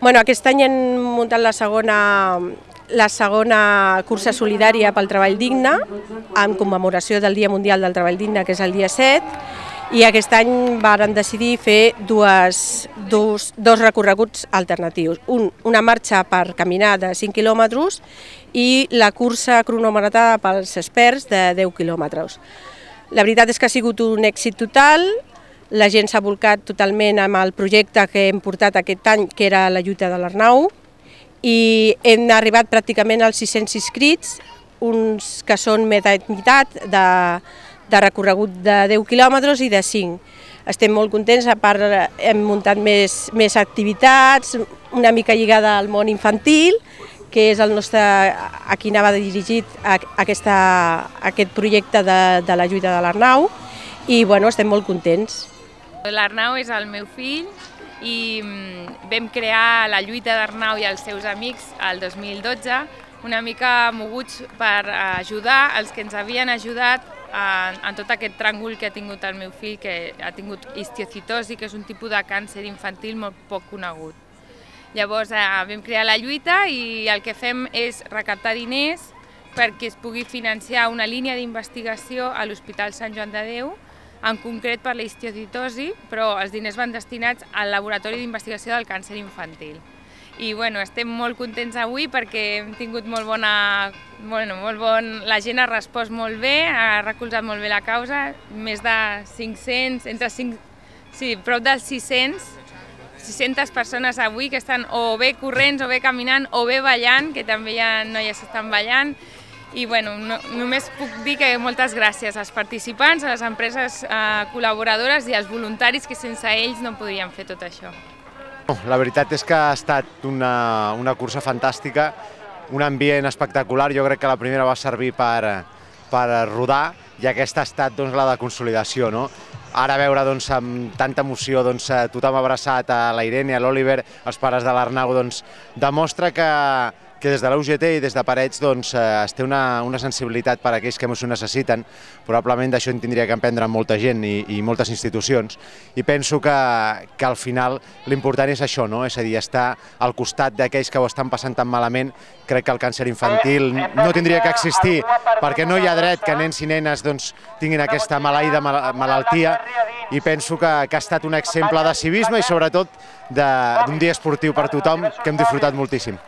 Aquest any hem muntat la segona cursa solidària pel treball digne, en commemoració del Dia Mundial del Treball Digne, que és el dia 7, i aquest any varen decidir fer dos recorreguts alternatius. Una marxa per caminar de 5 quilòmetres i la cursa cronometrada pels experts de 10 quilòmetres. La veritat és que ha sigut un èxit total. La gent s'ha volcat totalment amb el projecte que hem portat aquest any, que era la lluita de l'Arnau, i hem arribat pràcticament als 600 inscrits, uns que són meitat de recorregut de 10 quilòmetres i de 5. Estem molt contents, a part hem muntat més activitats, una mica lligada al món infantil, que és el nostre, a qui anava dirigit aquest projecte de la lluita de l'Arnau, i estem molt contents. L'Arnau és el meu fill i vam crear la lluita d'Arnau i els seus amics el 2012, una mica moguts per ajudar els que ens havien ajudat en tot aquest tràngol que ha tingut el meu fill, que ha tingut histiocitosi, que és un tipus de càncer infantil molt poc conegut. Llavors vam crear la lluita i el que fem és recaptar diners perquè es pugui financiar una línia d'investigació a l'Hospital Sant Joan de Déu, en concret per la histiocitosi, però els diners van destinats al Laboratori d'Investigació del Càncer Infantil. I estem molt contents avui perquè hem tingut la gent ha respost molt bé, ha recolzat molt bé la causa, més de 500, prop de 600 persones avui que estan o bé corrents, o bé caminant, o bé ballant, que també hi ha noies que estan ballant. I només puc dir que moltes gràcies als participants, a les empreses col·laboradores i als voluntaris, que sense ells no podríem fer tot això. La veritat és que ha estat una cursa fantàstica, un ambient espectacular. Jo crec que la primera va servir per rodar i aquesta ha estat la de consolidació. Ara veure amb tanta emoció tothom abraçat, a la Irene, a l'Oliver, els pares de l'Arnau, demostra que des de la UGT i des de Parets es té una sensibilitat per a aquells que més ho necessiten. Probablement d'això en tindria que aprendre molta gent i moltes institucions. I penso que al final l'important és això, és a dir, estar al costat d'aquells que ho estan passant tan malament. Crec que el càncer infantil no tindria que existir perquè no hi ha dret que nens i nenes tinguin aquesta maleïda malaltia, i penso que ha estat un exemple de civisme i sobretot d'un dia esportiu per tothom que hem disfrutat moltíssim.